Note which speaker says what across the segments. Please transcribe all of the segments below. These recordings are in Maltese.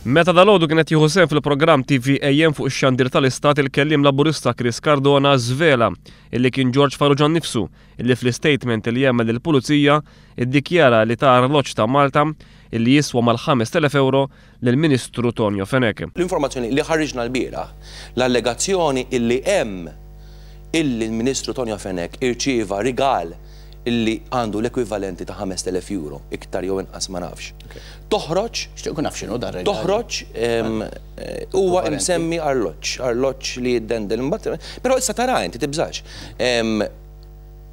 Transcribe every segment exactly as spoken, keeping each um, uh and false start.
Speaker 1: Meta dalgħodu kien qed jieħu sehem fil-programm T V A M fuq ix-xandir tal-Istat, il-kelliem Laburista Chris Cardona żvela illi kien George Farrugia nnifsu illi fl-istatement li jagħmel lill-pulizija iddikjara li ta arloġġ ta' Malta illi jiswa mal-ħamest elef euro lill-Ministru Tonio Fenech.
Speaker 2: L-informazzjoni li ħarriġna l-bieraħ, l-allegazzjoni illi hemm illi l-Ministru Tonio Fenech irċieva rigal illi għandu l-ekwivalenti ta' ħamest elef euro, iktar jew inqas ma nafx. Toħroġ
Speaker 3: Xtieq naf x'inhu dar rigal.
Speaker 2: Toħroġ em, eh, huwa imsemmi arloġġ, arloġġ li jiddendel imbagħad, però issa tara inti, tibżax. Em,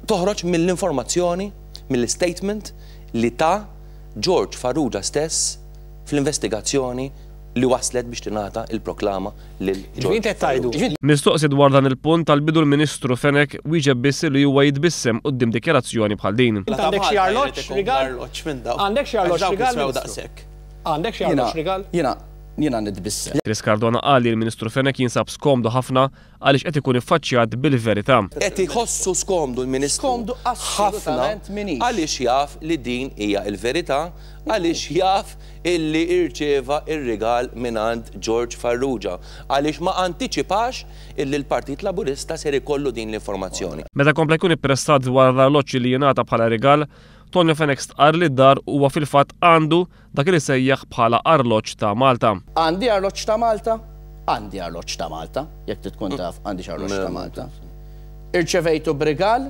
Speaker 2: Toħroġ mill-informazzjoni, mill-statement li ta George Farrugia stess fl-investigazzjoni li waslet biex tingħata il-proklama lil
Speaker 4: Ġifieri qed tgħidu.
Speaker 1: Mistoqsi dwar dan il-punt tal-bidu, l-Ministru Fenech wieġeb biss li huwa jitbissem quddiem dikjarazzjoni bħal din.
Speaker 4: Int għandek xi arloġġ rigal? Għandek xi arloġġ rigal, Ministru? Għandek xi arloġġ rigal?
Speaker 3: Jiena jiena nitbissem.
Speaker 1: Chris Cardona qal li l-Ministru Fenech jinsab skomdu ħafna għaliex qed ikun iffaċċjat bil-verità.
Speaker 2: Qed iħossu skomdu l-Ministru
Speaker 3: Skomdu
Speaker 2: ħafna
Speaker 3: assolutament minix.
Speaker 2: Għaliex jaf li din hija l-verità, għaliex jaf illi irċeva ir-rigal mingħand George Farrugia, għaliex ma antiċipax illi l-Partit Laburista ser ikollu din l-informazzjoni.
Speaker 1: Meta kompla jkun ippressat dwar l-arloġġ li jingħata bħala rigal, Tonio Fenech stqarr li d-dar huwa fil-fatt għandu dak li sejjaħ bħala arloġġ ta' Malta.
Speaker 3: Għandi arloġġ ta' Malta? Għandi arloġġ ta' Malta, jekk trid tkun taf għandi arloġġ ta' Malta. Irċevejtu b'rigal?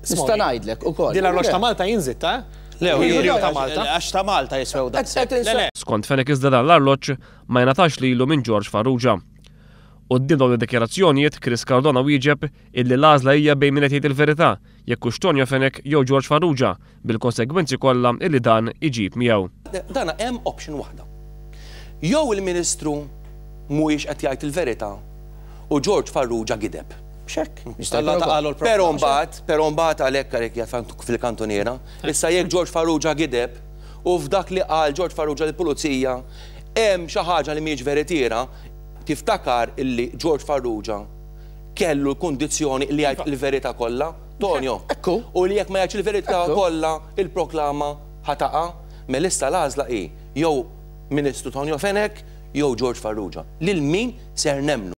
Speaker 3: Nista' ngħidlek ukoll.
Speaker 4: Din l-arloġġ ta' Malta jinżid, ta'
Speaker 5: Le,
Speaker 4: Jiri ta' Malta.
Speaker 5: Għax ta' Malta jiswew daqshekk.
Speaker 3: Qed
Speaker 5: Le, le.
Speaker 1: Skont Fenech iżda dan l-arloġġ ma jingħatax lilu minn George Farrugia. Quddiem dawn id-dikjarazzjonijiet, Chris Cardona wieġeb illi l-għażla hija bejn min qed jgħid il-verità, jekk hux Tonio Fenech jew George Farrugia, bil-konsegwenzi kollha illi dan iġib miegħu.
Speaker 2: Dana hemm option waħda. Jew il-Ministru mhuwiex qed jgħid il-verità u George Farrugia gideb.
Speaker 3: Xek. Jista'
Speaker 5: Alla
Speaker 3: jkun
Speaker 5: ta'
Speaker 3: ukoll.
Speaker 5: qalu l-problema.
Speaker 2: Però mbagħad, però mbagħad għalhekk għalhekk jgħid fil-kantoniera, issa jekk George Farrugia gideb u f'dak li qal George Farrugia lill-pulizija hemm xi ħaġa li mhijiex veritiera, tiftakar illi George Farrugia kellu l-kundizzjoni li jgħid il-verità kollha, Tonio.
Speaker 3: Ekku.
Speaker 2: U li jekk ma jgħidx il-verità
Speaker 3: Ekku.
Speaker 2: kollha, il-proklama ħa taqa', mela issa l-għażla hi jew Ministru Tonio Fenech jew George Farrugia. Lil min ser nemmnu?